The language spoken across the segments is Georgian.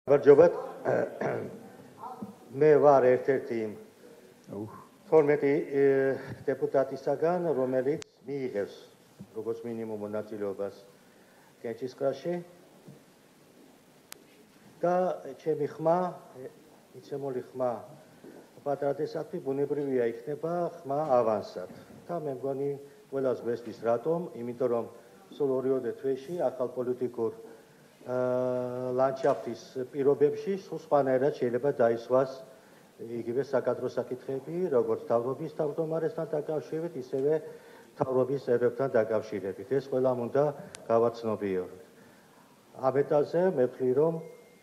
Barjobat, me var ერთ-ერთი 12 დეპუტატისაგან, რომელიც მიიღებს როგორც მინიმუმ მონაწილეობას კენჭისყრაში და ჩემი ხმა, მიცემული ხმა პატრიოტისადმი ბუნებრივია იქნება ხმა ავანსად. და მე მგონი ყველას გვესმის რატომ, იმიტომ რომ სულ 2 თვეში ახალ პოლიტიკურ ლანდშაფტის პირობებში სულ სხვანაირად შეიძლება დაისვას იგივე საკადრო საკითხები, როგორც თავრობის თავმჯდომარესთან დაკავშირებით, ისევე თავრობის წევრებთან დაკავშირებით. ეს ყველამ უნდა გავაცნობიეროთ. ამ ეტაპზე მე ვთვლი, რომ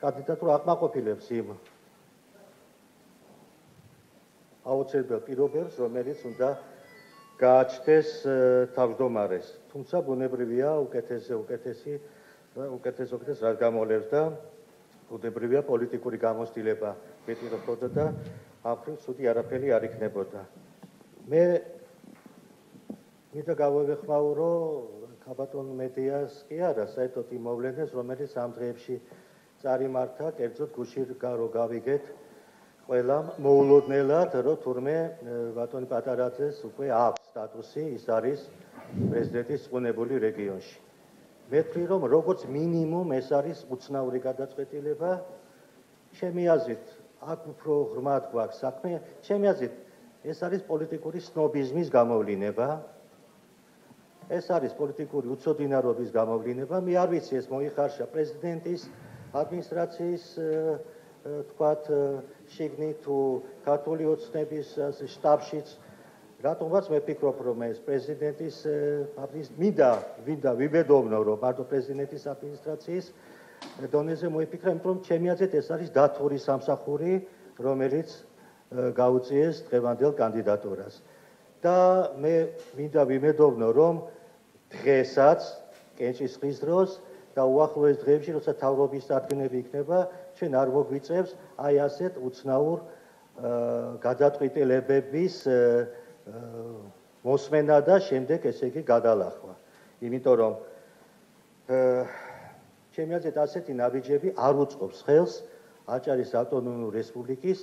კანდიდატურა აკმაყოფილებს იმ აუცილებელ პირობებს, რომელიც უნდა გააჩნდეს თავმჯდომარეს. თუმცა ბუნებრივია უკეთეს რაც გამოვლევს და ბუნებრივია პოლიტიკური გამოცდილება მეტი რო ხდება და ამ ხრივ ცუდი არაფერი არ იქნებოდა. მე მინდა გავევეხმაურო ქაბატონ მედიას კი არა, საერთოდ იმ მოვლენებს, რომელიც ამ დღეებში წარიმართა, კერძოდ გუშინ რო გავიგეთ ყველამ მოულოდნელად, რომ თურმე ბატონი პატარაძეს უკვე აქვს სტატუსი, ის არის პრეზიდენტის წვუნებული რეგიონში. მე ვთვლი, რომ როგორც მინიმუმ ეს არის უცნაური გადაწყვეტილება. ჩემი აზრით, აქ უფრო ღრმად გვაქვს საქმე, ჩემი აზრით, ეს არის პოლიტიკური სნობიზმის გამოვლინება. ეს არის პოლიტიკური უცოდინარობის გამოვლინება. მე არ ვიცი ეს მოიხარშა პრეზიდენტის ადმინისტრაციის თქვათ შიგნით თუ ქართული ოცნების შტაბშიც. რატომაც მე ვფიქრობ, რომ ეს პრეზიდენტის მინდა ვიბედოვნო, რომ მარტო პრეზიდენტის ადმინისტრაციის დონეზე მოიფიქრა, იმიტომ რომ ჩემი აზრით ეს არის დათური სამსახური, რომელიც გაუწიეს დღევანდელ კანდიდატურას. და მე მინდა ვიმედოვნო, რომ დღესაც კენჭისყრის დროს და უახლოეს დღეებში, როცა თავრობის წარდგენები იქნება, ჩვენ არ მოგვიწევს აი ასეთ უცნაურ გადაწყვეტილებების მოსმენა და შემდეგ ესე იგი გადალახვა. იმიტომ რომ ჩემი აზრით ასეთი ნაბიჯები არ უწყობს ხელს აჭარის ავტონომიური რესპუბლიკის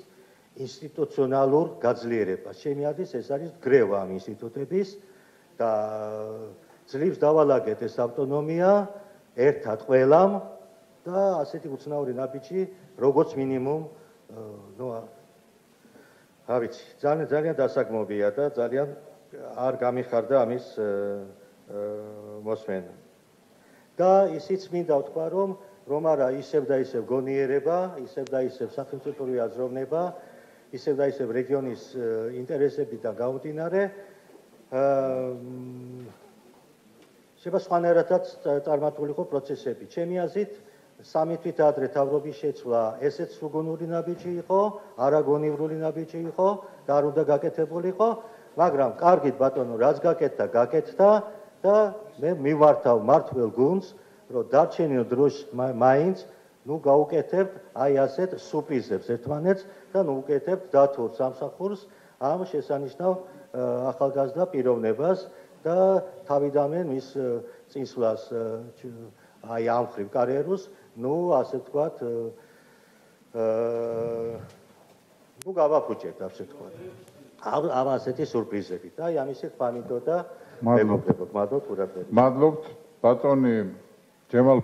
ინსტიტუციონალურ გაძლიერებას. ჩემი აზრით ეს არის გრევა ამ ინსტიტუტების და ძლივს დავალაგეთ ეს ავტონომია ერთად ყველამ და ასეთი უცნაური ნაბიჯი როგორც მინიმუმ რა ვიცი, ძალიან დასაგმობია და ძალიან არ გამიხარდა ამის მოსმენა. და ისიც მინდა ვთქვა, რომ არა ისევ და ისევ გონიერება, ისევ და ისევ სახელმწიფოური აზროვნება, ისევ და ისევ რეგიონის ინტერესებიდან გამომდინარე შეიძლება სხვანაირადაც წარმართულიყო პროცესები. ჩემი აზრით, 3 თვით ადრე თავრობის შეცვლა ესეც სრულგონური ნაბიჯი იყო, არაგონივრული ნაბიჯი იყო და არ უნდა გაკეთებულიყო, მაგრამ კარგით ბატონო, რაც გაკეთდა, გაკეთდა და მე მივართავ მართლ გუნდს, რომ დარჩენილ დროს მაინც გავუკეთებთ აი ასეთ სუპიზებს ერთმანეთს და ვუკეთებთ დათურ სამსახურს ამ შესანიშნავ ახალგაზრდა პიროვნებას და თავიდანვე მის წინსვლას აი ამ ხრივ კარიერულს ასე ვთქვათ, გავაფუჭებთ, ასე ვთქვათ. ამ ასეთი სურპრიზებით. აი ამისი ხმა მინდოდა და მეგობრებო, გმადლობთ ყურადღებისთვის. მადლობთ ბატონი ჯემალ